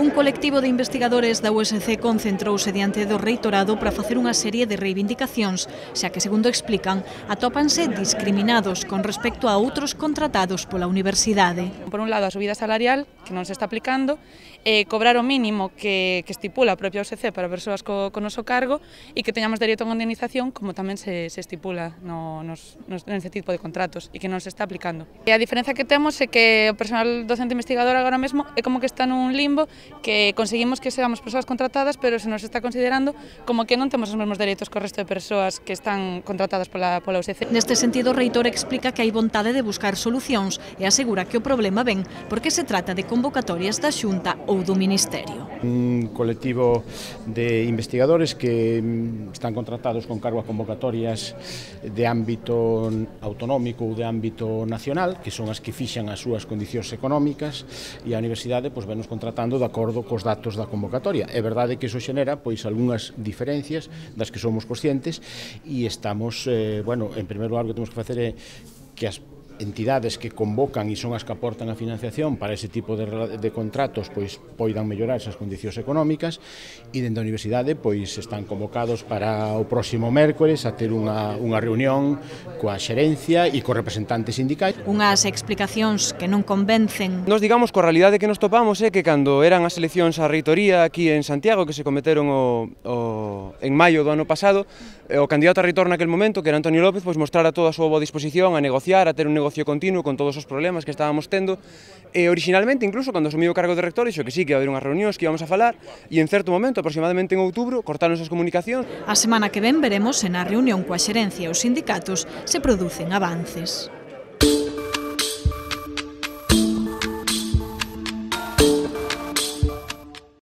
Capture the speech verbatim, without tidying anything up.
Un colectivo de investigadores da U S C concentrouse diante do reitorado para facer unha serie de reivindicacións, xa que, segundo explican, atópanse discriminados con respecto a outros contratados pola universidade. Por un lado, a subida salarial, que non se está aplicando, eh, cobrar o mínimo que, que estipula a propia U S C para persoas co, co noso cargo e que teñamos dereito a unha indemnización, como tamén se, se estipula no, nos, nos, neste tipo de contratos e que non se está aplicando. E a diferencia que temos é que o personal docente investigador agora mesmo é como que está nun limbo, que conseguimos que seamos persoas contratadas, pero se nos está considerando como que non temos os mesmos dereitos co resto de persoas que están contratadas pola, pola U S C. Neste sentido, o reitor explica que hai vontade de buscar solucións e asegura que o problema ven porque se trata de convocatorias da Xunta ou do Ministerio. Un colectivo de investigadores que están contratados con cargo a convocatorias de ámbito autonómico ou de ámbito nacional, que son as que fixan as súas condicións económicas, e a universidade pois, venos contratando de acordo cos datos da convocatoria. É verdade que iso xenera pois algunhas diferencias das que somos conscientes e estamos, eh, bueno, en primeiro lugar o que temos que facer é que as entidades que convocan e son as que aportan a financiación para ese tipo de, de contratos pois poidan mellorar esas condicións económicas e dende a universidade pois están convocados para o próximo mércores a ter unha, unha reunión coa xerencia e cos representantes sindicais. Unhas explicacións que non convencen. Nos digamos que a realidade que nos topamos é que cando eran as eleccións á reitoría aquí en Santiago, que se cometeron o, o, en maio do ano pasado, o candidato a reitor naquel momento, que era Antonio López, pois mostrara toda a súa boa disposición a negociar, a ter un negocio continuo con todos os problemas que estábamos tendo, e originalmente, incluso cando asumí o cargo de rector, dixo que sí, que ia haber unhas reunións, que íbamos a falar, e en certo momento, aproximadamente en outubro, cortaron as comunicacións. A semana que ven veremos se na reunión coa xerencia e os sindicatos se producen avances.